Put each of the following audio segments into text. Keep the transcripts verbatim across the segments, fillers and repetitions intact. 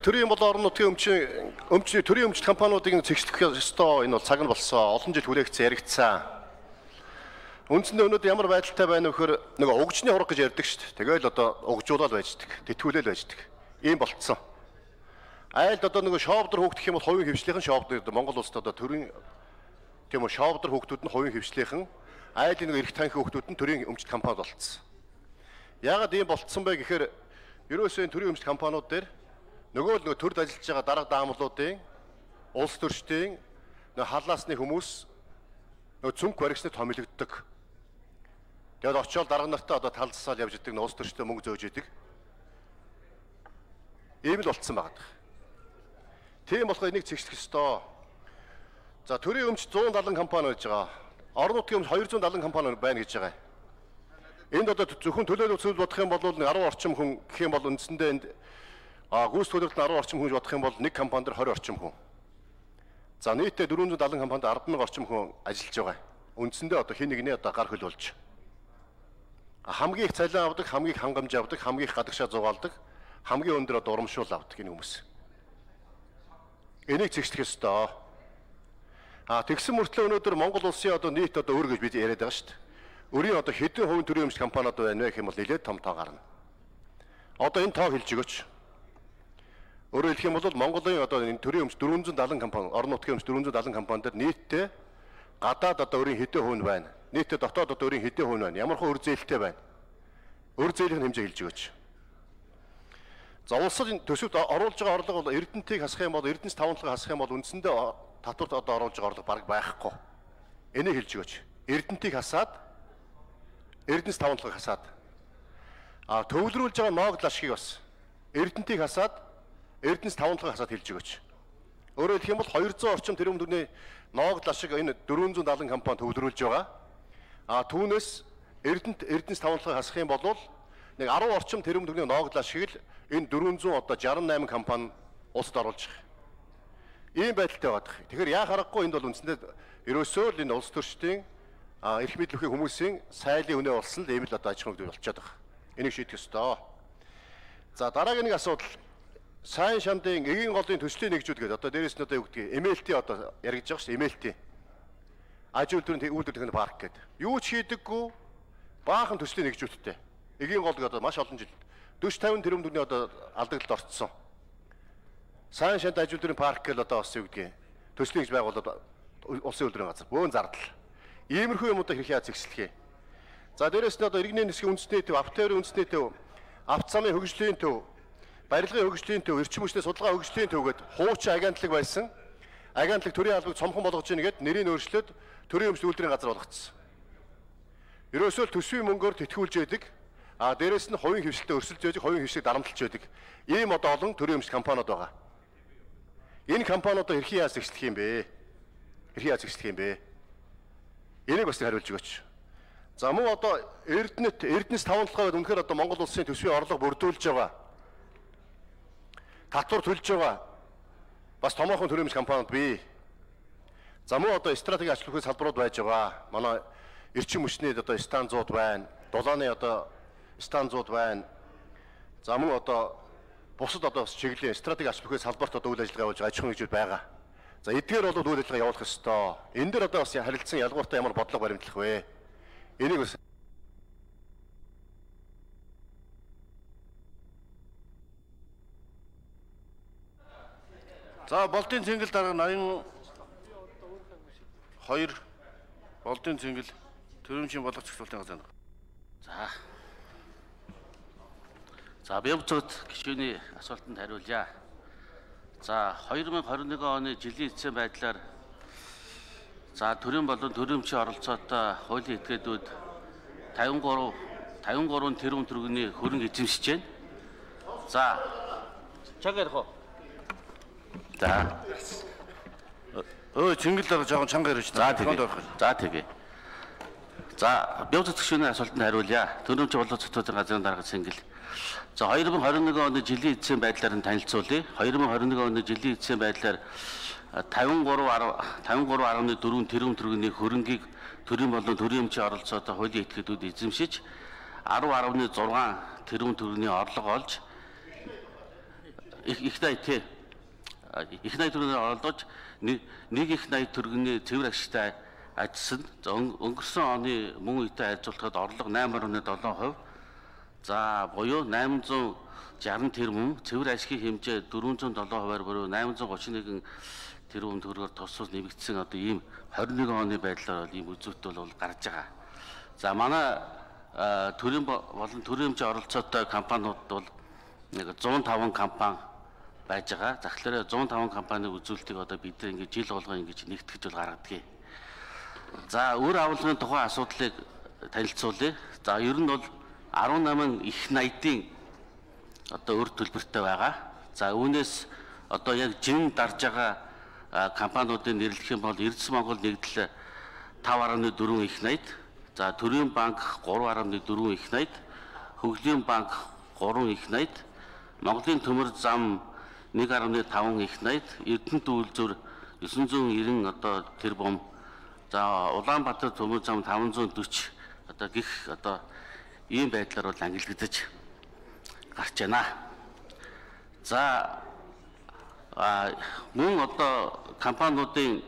төрийн бол орон нутгийн өмчийн өмчний төрийн өмчит компаниудыг зэгслэх ёстой энэ бол цаг нь болсон. Олон жил хүлээгдсэн яригдсан. Үндсэндээ өнөөдөр ямар байдалтай байна вэ гэхээр нөгөө угжны хураг гэж ярьдаг шүү дээ. Тэгэл одоо угжуулаад байждаг, тэтгүүлэл байждаг. Ийм болцсон. Айлд одоо нөгөө шоовдөр хөөгдөх юм бол хувийн хвшлийнхэн шоовдөр Монгол улсад одоо төрийн тийм үү шоовдөр хөөгдүүд нь хувийн хвшлийнхэн, айлын нөгөө эрх танхи хөөгдүүд нь төрийн өмчит компани болцсон. Яагаад ийм болцсон бэ гэхээр ерөөсөө төрийн өмчит компаниуд дээр нөгөө л нөгөө төрд ажиллаж байгаа дарга даамлуудын улс төрчдийн нөгөө халаасны хүмүүс нөгөө цүнх баригчны томилогддог. Тэгээд очиод дарга нартаа одоо талцсаал явж идэг, улс төрчдөө мөнгө зөөж идэг. Ийм л болцсон байгаа. Тийм болохоор энийг зэгслэх ёстой. За төрийн өмчт зуун даалан компани байж байгаа. Орон нутгийн өмч хоёр зуун даалан компани байна гэж байгаа. Энд одоо зөвхөн төлөөлөл үзүүлж бодох юм бол арван орчим хүн гэх юм бол үндсэндээ энд а гүйс төлөвлөлт арван орчим хүн бодох юм бол нэг компани дээр хорин орчим хүн. За нийтдээ дөрвөн зуун даалан компанид арван мянган орчим хүн ажиллаж байгаа. Үндсэндээ одоо хин нэгний одоо гар хөл болж. Хамгийн их цалин авдаг, хамгийн их хангамж авдаг, хамгийн их гадагшаа зугаалдаг, хамгийн өндөр одоо урамшуул авдаг энэ хүмүүс. Энийг зэгслэх ёстой. А тэгсэн мөртлөө өнөөдөр Монгол улсын одоо нийт одоо өр гэж бид яриад байгаа шүү дээ. Өрийн одоо хэдэн хувийн төрийн өмчит компаниуд байна вэ гэх юм бол нэлээд том тоо гарна. Одоо энэ тоо хэлж өгөөч. Өөрөөр хэлэх юм бол Монголын одоо энэ төрийн өмч дөрвөн зуун даалан компани, орон нутгийн өмч дөрвөн зуун даалан компани дээр нийтдээ гадаад одоо өрийн хэдэн хувь байна. Нийтдээ дотоод одоо өрийн хэдэн хувь байна. Ямар хөө өр зээлтэй байна. Өр зээлийн хэмжээ хэлж өгөөч. За улсын төсөвт оруулж байгаа орлого бол Эрдэнэтийг хасах юм бол Эрдэнэс таванлагыг хасах юм бол үндсэндээ татварт одоо оруулж байгаа орлого бараг байхгүй. Энийг хэлж өгөөч. Эрдэнэтийг хасаад Эрдэнэс таванлагыг хасаад а төвлөрүүлж байгаа ноогд лашгийг бас Эрдэнэтийг хасаад Эрдэнэс таванлагыг хасаад хэлж өгөөч. Өөрөөр хэлэх юм бол хоёр зуун орчим тэрбум төгрөгийн ноогд лашиг энэ дөрвөн зуун даалан компани төвлөрүүлж байгаа. А түүнээс Эрдэнэт Эрдэнэс таванлагыг хасах юм бол нэг арван орчим тэрбум төгрөгийн ноогд лашиг л энэ дөрвөн зуун одоо шестдесет и восемь компани улсад оруулж байгаа. Ийм байдалтай байдаг. Тэгэхээр яа харахгүй энд бол үндсэндээ ерөөсөө л энэ улс төрчдийн эрх мэдэл өгөх хүмүүсийн сайлын үнэ болсон л ийм л одоо аж ахуйн хөдөлгөөн болчиход байгаа. Энийг шийдэх ёстой. За дараагийн нэг асуудал сайн шандын эгийн голын төслийн нэгжүүд гэдэг одоо дээрээс нь одоо юу гэдгийг эм эл ти одоо яригдж байгаа шүү дээ. эм эл ти аж үйлдвэрийн үйлдвэр техник парк гэдэг. Юу ч хийдэггүй баахан төслийн нэгжүүдтэй. Эгийн гол гэдэг одоо маш олон жил дөрвөн тавин тэрбум төгрөгийн одоо алдагдлалд орцсон. Сайн шанд аж үйлдвэрийн парк гэл одоо бас юу гэдгийг төслийн нэгж байгуулаад улсын үйлдвэрийн газар бөөн зардал. Иймэрхүү юмудаа хэрхэн яаж зэгслэх юм. За дээрээс нь одоо иргэний нисгийн үндэсний төв, автоэрийн үндэсний төв, авто замын хөгжлийн төв, барилгын хөгжлийн төв, эрчим хүчний судалгаа хөгжлийн төв гэдэг хуучин агентлаг байсан. Агентлаг төрийн албыг цомхон болгож ийн гэдэг нэрийг өөрчлөөд төрийн өмчт үйлдвэрийн газар болгоцсон. Ерөөсөө төсвийн мөнгөөр тэтгүүлж яадаг. А дээрээс нь хувийн хвшилтэд өрсөлдөж яадаг, хувийн хвшилийг дарамтлж яадаг. Ийм одоо олон төрийн өмчт компаниуд байгаа. Энэ компаниудаа хэрхэн яаж зэгслэх юм бэ? Хэрхэн яаж зэгслэх юм бэ? Энийг бас хариулж өгөөч. За мөн одоо Эрдэнэт Эрдэнэс таванлагаа гэдэг үнэхээр одоо Монгол улсын төсвийн орлого бүрдүүлж байгаа. Татвар төлж байгаа. Бас томоохон төрийн өмчт компаниуд бий. За мөн одоо стратеги ач холбогдох салбарууд байж байгаа. Манай эрчим хүчний одоо станцууд байна. Дулааны одоо станцууд байна. За мөн одоо бусад одоо чиглэлийн стратеги ач холбогдох салбарт одоо үйл ажиллагаа явуулж байгаа аж ахуйн нэгжүүд байгаа. За эдгээр бол үйл ажиллагаа явуулах ёстой. Энэ дээр одоо бас харилцан ялгууртай ямар бодлого баримтлах вэ? Энийг бас За болтын цэнгэл дарга ноён хоёр болтын цэнгэл төрөмчийн болгоц зохицуулалтын газар. За. За бямцот гишүүний асуултанд хариулъя. За хоёр мянга хорин нэгэн оны жилийн эцсийн байдлаар за төрийн болон төрөмчийн оролцоотой хуулийн этгээдүүд тавин гурав тэрбум төгрөгийн хөрөнгө эзэмшиж байна. За чаг ярих уу? За. Өө цэнгэл дарга жоохон чанга ярьж байна. За тэгээ. За бямцот гишүүний асуултанд хариулъя. Төрөмчийн болон зохицуулалтын газрын дарга цэнгэл. За хоёр мянга хорин нэгэн оны жилийн эцсийн байдлаар нь танилцуулъя. хоёр мянга хорин нэгэн оны жилийн эцсийн байдлаар тавин гурав гаруй дөрвөн тэрбум төгрөгийн хөрөнгийг төрийн болон төрийн өмчийн оролцоотой хуулийн этгээдүүд эзэмшиж арав гаруй зургаан тэрбум төгрөгийн орлого олж их найд тий. Их найд төгрөгөөр оролдож нэг их найд төгрөгийн цэвэр ашигтай ажилласан. Өнгөрсөн оны мөн үетэй харьцуулахад орлого найман орчим долоо хувь. За буюу найман зуун жаргал тэрбум, цэвэр ашигын хэмжээ дөрвөн зуун долоо хувиар буюу найман зуун гучин нэгэн тэрбум төгрөгөөр тусвал нэмэгдсэн одоо ийм двадцать нэг оны байдлаар ийм үзүүлэлт бол гарч байгаа. За манай төрийн болон төрийн хэмжээ оролцоотой компаниуд бол нэг зуун таван компани байж байгаа. Тэгэхээр зуун таван компанийн үзүүлэлтийг одоо бид нар ингэж жил болгоо ингэж нэгтгэж бол гаргадаг. За өөр агуулгын тухайн асуудлыг танилцуулъя. За ер нь бол арван намын их найдын одоо өр төлбөртэй байгаа. За үүнээс одоо яг жин дарж байгаа компаниудыг нэрлэх юм бол Эрдэс Монгол нэгдэл five point four их найд, за Төрийн банк three point four их найд, Хөгжлийн банк three их найд, Монголын төмөр зам one point five их найд, Эрдэнэт үйлдвэр nine ninety одоо тэрбум, за Улаанбаатар төмөр зам five forty одоо гих одоо ийм байдлаар бол ангилагдаж гарч байна. За мөн одоо компаниудын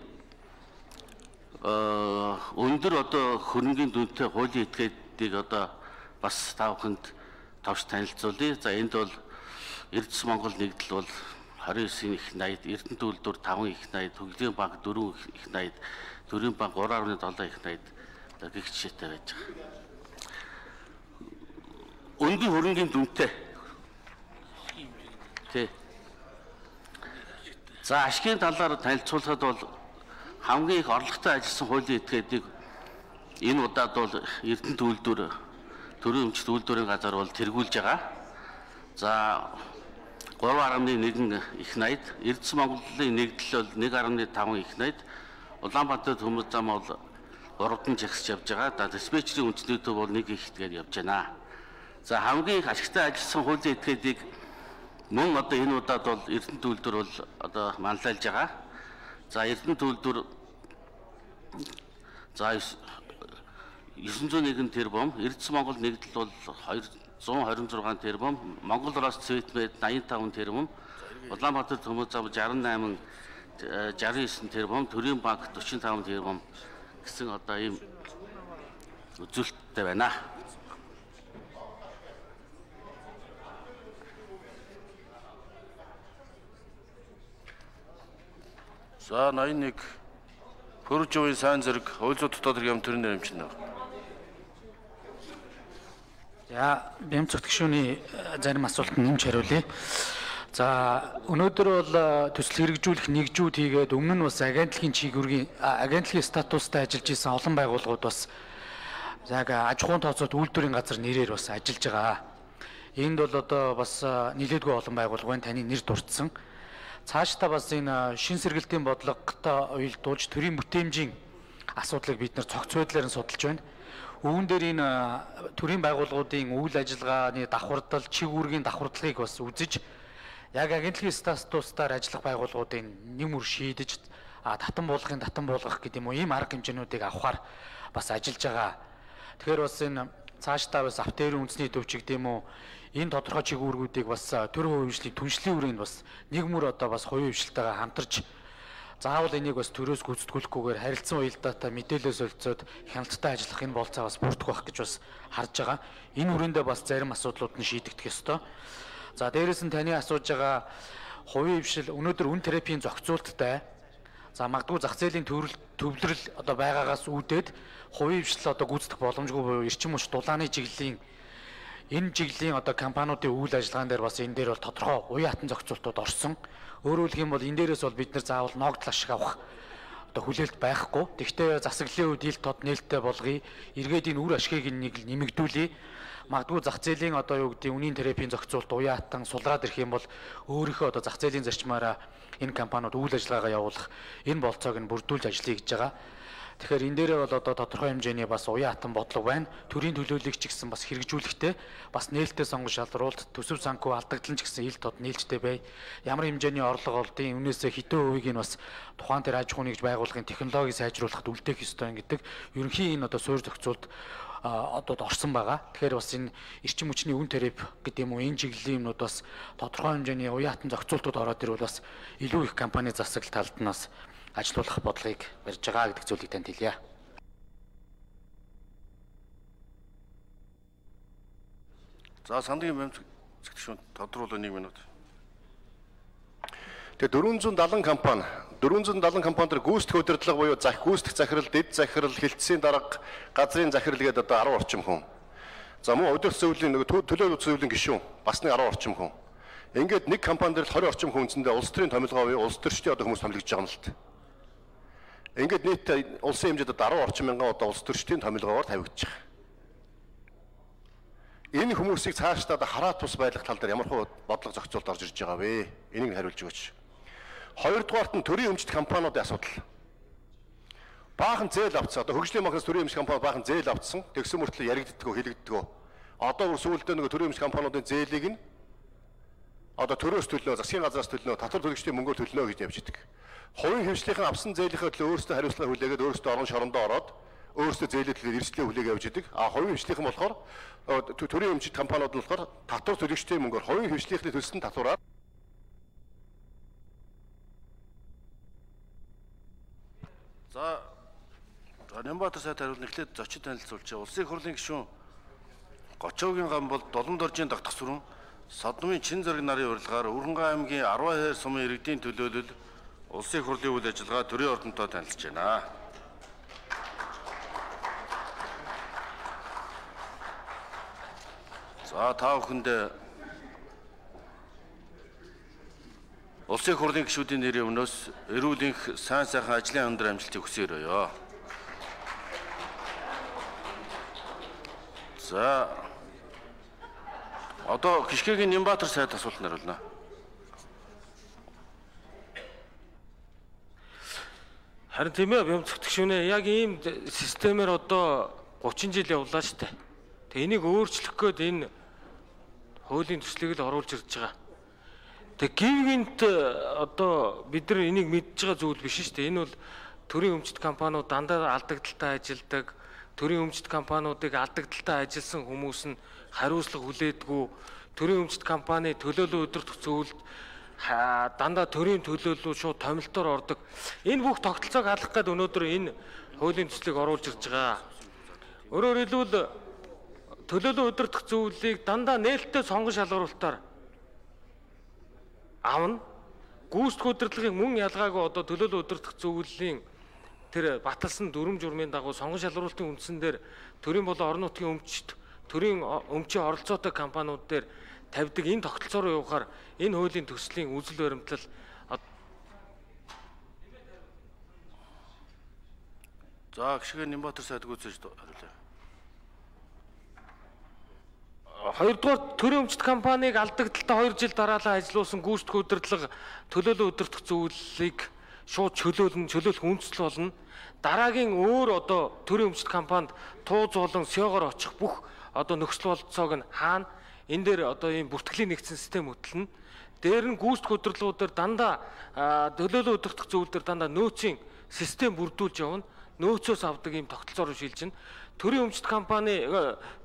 өндөр одоо хөрөнгөний дүнтэй хуулийн этгээдийг одоо бас та бүхэнд товч танилцуулъя. За энд бол Эрдэс Монгол нэгдэл бол twenty-nine их найд, Эрдэнэт үйлдвэр five их найд, Хөгжлийн банк four их найд, Төрийн банк three point seven их найд гих жишээтэй байж байгаа. Өндөр хөрөнгөний дүнтэй. Тэ. За ашигын талаар танилцуулахад бол хамгийн их орлоготой ажилласан хуулийн этгээдийг энэ удаад бол Эрдэнэт үйлдвэр төрийн өмчт үйлдвэрийн газар бол тэргүүлж байгаа. За three point one их найд, Эрдэс Монголын нэгдэл бол one point five их найд, Улаанбаатар төмөр зам бол гуравдан жагсаж явж байгаа. За диспетчерийн үндэсний төв бол one их тэгээд явж байна. За хамгийн их ашигтай ажилласан хуулийн этгээдийг мөн одоо энэ удаад бол Эрдэнэт үйлдвэр бол одоо манлайлж байгаа. За Эрдэнэт үйлдвэр за nine oh one тэрбум, Эрдэс Монгол нэгдэл бол two hundred twenty-six тэрбум, Монгол Рос Цветмед eighty-five тэрбум, Улаанбаатар төмөр зам sixty-eight sixty-nine тэрбум, Төрийн банк forty-five тэрбум гэсэн одоо ийм үзүүлэлттэй байна. За ninety-one Пүржүүн сайн зэрэг хууль зүйн дотоод хэргийн төрийн нэрэмчин байна. За бямцогт гишүүний зарим асуултанд нэмж хариулъя. За өнөөдөр бол төсөл хэрэгжүүлэх нэгжүүд хийгээд өмнө нь бас агентлагийн чиглэлгийн агентлагийн статустай ажиллаж исэн олон байгууллагууд бас яг аж ахуйн тооцоот үйлдвэрийн газар нэрээр бас ажиллаж байгаа. Энд бол одоо бас нэлээдгүй олон байгууллага байна, таны нэр дурдсан. Цаашдаа бас энэ шин сэргэлтийн бодлоготой уялдуулж төрийн бүтээмжийн асуудлыг бид нар цогц байдлаар нь судалж байна. Үүн дээр энэ төрийн байгууллагуудын үйл ажиллагааны давхардал, чиг үүргийн давхардлыг бас үзэж яг агентлагийн статустаар ажиллах байгууллагуудын нэм үр шийдэж татан буулгахын татан буулгах гэдэг юм уу ийм арга хэмжээнүүдийг авахар бас ажиллаж байгаа. Тэгэхээр бас энэ цаашдаа бас автоэрийн үндэсний төв ч гэдэг юм уу энэ тодорхой чиг үүргүүдийг бас төр хувийн хвшлийн түншлэлийн үрийг бас нэг мөр одоо бас хувийн хвшилтайгаа хамтарч заавал энийг бас төрөөс гүйцэтгүүлэхгүйгээр харилцан уялдаатай мэдээлэл солилцоод хяналттай ажиллах энэ болцоо бас бүрдэх байх гэж бас харж байгаа. Энэ үрээндээ бас зарим асуудлууд нь шийдэгдэх ёстой. За дээрээс нь таны асууж байгаа хувийн хвшил өнөөдөр үн терапийн зохицуулттай. За магадгүй зах зээлийн төвлөрөл одоо байгаагаас үүдээд хувийн хвшил одоо гүйцэтгэх боломжгүй буюу эрчим хүч дулааны чиглэлийн энэ чиглэлийн одоо компаниудын үйл ажиллагаан дээр бас энэ дээр бол тодорхой уян хатан зохицуултууд орсон. Өөрөөр хэлэх юм бол энэ дээрээс бол бид нар заавал ногдол ашиг авах одоо хүлээлт байхгүй. Тэгвэл засаглалын үед ил тод нээлттэй болгоё. Эргээд энэ үр ашигыг нэг нэмэгдүүлье. Магадгүй зах зээлийн одоо юу гэдэг үнийн терапийн зохицуулт уян хатан сулраад ирэх юм бол өөрийнхөө одоо зах зээлийн зарчмаараа энэ компаниуд үйл ажиллагаагаа явуулах энэ болцоог нь бүрдүүлж ажиллая гэж байгаа. Тэгэхээр энэ дээрээ бол одоо тодорхой хэмжээний бас уян хатан бодлого байна. Төрийн төлөөллийг ч гэсэн бас хэрэгжүүлэхтэй бас нээлттэй сонгон шалруулалт, төсөв санхүү алдагдлан ч гэсэн ил тод нээлттэй бай. Ямар хэмжээний орлого олдын үнээсээ хэдэн хувийг нь бас тухайн тэр аж ахуйн нэгж байгууллагын технологиг сайжруулахад үлдээх ёстой гэдэг ерөнхийн энэ одоо суурь зохицуулт одоо орсон байгаа. Тэгэхээр бас энэ эрчим хүчний үн тариф гэдэг юм уу энэ чиглэлийн юмнууд бас тодорхой хэмжээний уяатан зохицуултууд ороод ирвэл бас илүү их компани засаг талд нь бас ажилуулах бодлогыг барьж байгаа гэдэг зүйлийг танд хэлье. За сандрын бямцгчшүүн тодруулах нэг минут. Тэгээ дөрвөн зуун далайн компани дөрвөн зуун далайн компани төр гүйцэтгэх удирдлага буюу зах гүйцэтгэх захирал, дэд захирал, хилцээний дарга, газрын захирал гэдэг одоо арван орчим хүн. За мөн удирдах зөвлөлийн нэг төлөөлөх зөвлөлийн гишүүн бас нэг арван орчим хүн. Ингээд нэг компани дээр двадцать орчим хүн үндсэндээ улс төрийн томилгоо буюу улс төрчдийн одоо хүмүүс томилгож байгаа юм л та. Ингээд нийт улсын хэмжээнд арван орчим мянган одоо улс төрчдийн томилгоогоор тавигдчих. Энэ хүмүүсийг цаашдаа хараат тус байлгах тал дээр ямар хөө бодлого зохицуулт орж ирж байгаа вэ? Энийг хариулж өгөөч. Хоёрдугаарт нь төрийн өмчт компаниудын асуудал. Баахан зээл авцсан. Одоо хөгжлийн банкнаас төрийн өмчт компани баахан зээл авцсан. Тэгсэн мөртлөө яригддаггүй, хэлэгддэггүй. Одоо бүр сүүлдээ нэг төрийн өмчт компаниудын зээлийг нь одоо төрөөс төлнө, засгийн газраас төлнө, татвар төлөгчдийн мөнгөөр төлнө гэж явж идэг. Хувийн хэмжлийнхэн авсан зээлийнхээ төлөө өөрсдөө хариуцлага хүлээгээд өөрсдөө орон шорондоо ороод өөрсдөө зээлээ төлөөд эрсдлээ хүлээгээ явж идэг. А хувийн хэмжлийнхэн болохоор төрийн өмчт компаниуд нь болохоор татвар төлөгчдийн мөнгөөр хувийн хэмжлийнхний төлсөн татвараар За Нямбатар сайд хариулт эхлээд зочид танилцуулж байгаа. Улсын их хурлын гишүүн Гочоогийн гам бол Долон доржийн дагтах сүрэн Содмын чин зэрэг нарын урилгаар Өрөнгөө аймгийн арван хайр сумын иргэдийн төлөөлөл улсын их хурлын үйл ажиллагаа төрийн ордонтой танилцж байна. За та бүхэнд улсын их хурлын гишүүдийн нэрийн өмнөөс эрүүлэнх сайн сайхан ажлын өндөр амжилтыг хүсээрөөё. За одоо Гишгээгийн Нямбатар сайд асуулт хариулна. Харин тийм ээ бямцгтгшүүнэ яг ийм системээр одоо гучин жил явлаа шүү дээ. Тэг энийг өөрчлөх гээд энэ хуулийн төслийг л оруулж ирж байгаа. Тэг гівгэнт одоо бид нар энийг мэдж байгаа зүйл биш шүү дээ. Энэ бол төрийн өмчт компаниуд дандаа алдагдaltaй ажилдаг, төрийн өмчт компаниудыг алдагдaltaй ажилласан хүмүүс нь хариуцлага хүлээдэггүй, төрийн өмчт компани төлөөлөл удирдах зөвлөлд дандаа төрийн төлөөлөл шууд томилтоор ордог. Энэ бүх тогтолцоог халах гээд өнөөдөр энэ хуулийн төслийг оруулж ирж байгаа. Өөрөөр хэлбэл төлөөлөл удирдах зөвлөлийг дандаа нээлттэй сонгон шалгаруулалтаар авна. Гүйцэтгэх удирдлагын мөн ялгаагүй одоо төлөөлөл удирдах зөвлөлийн тэр баталсан дүрм журмын дагуу сонгон шалгаруулалтын үндсэн дээр төрийн болон орон нутгийн өмчт төрийн өмчийн оролцоотой компаниуд дээр тавьдаг энэ тогтолцоо руу явахаар энэ хуулийн төслийн үзэл баримтлал За Гишгээ Нямбатар сайд гүйцэж хариулъя. Хоёрдугаар төрийн өмчт компанийг алдагдaltaй хоёр жил дараалан ажилуулсан гүйцэтгэх удирдлага төлөөлөл удирдах зөвлөлийг шууд чөлөөлнө, чөлөөлөх үндэслэл болно. Дараагийн өөр одоо төрийн өмчт компанид тууз болон сёгоор очих бүх одоо нөхцөл болцоог нь хаана энэ дээр одоо ийм бүртгэлийн нэгдсэн систем хөтлөнө. Дээр нь гүйцэтгэх удирдлагуудаар дандаа төлөөлөл удирдах зөвлөлдөр дандаа нөөцийн систем бүрдүүлж явна. Нөөцөөс авдаг ийм тогтолцоор шилжинэ. Төрийн өмчт компани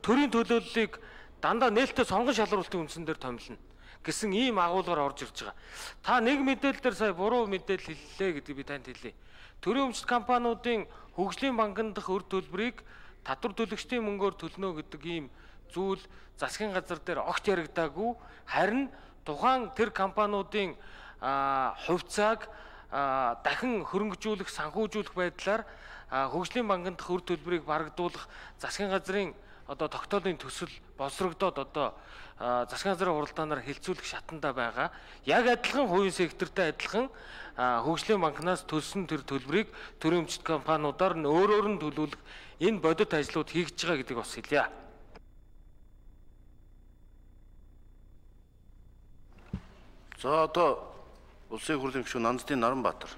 төрийн төлөөллийг дандаа нээлттэй сонгон шалгаруулалтын үндсэн дээр томилно гэсэн ийм агуулгаар орж ирж байгаа. Та нэг мэдээлэл дээр сая буруу мэдээлэл хэллээ гэдэг би танд хэлье. Төрийн өмчт компаниудын хөгжлийн банкнд дах өр төлбөрийг татвар төлөгчдийн мөнгөөр төлнө гэдэг ийм зүйл засгийн газар дээр огт яригдаагүй. Харин тухайн тэр компаниудын хувьцааг дахин хөрөнгөжүүлэх, санхүүжүүлэх байдлаар хөгжлийн банкнд дах өр төлбөрийг барагдуулах засгийн газрын одоо тогтоолын төсөл боловсрогдоод одоо засгийн газрын хуралдаанаар хэлцүүлэх шатанда байгаа. Яг адилхан хувийн сектортой адилхан хөгжлийн банкнаас төлсөн тэр төлбөрийг төрийн өмчт компаниудаар нь өөрөөр нь төлөвлөх энэ бодит ажлууд хийгдэж байгаа гэдгийг бас хэлье. За одоо улсын хурлын гишүүн Нандтын Наранбаатар.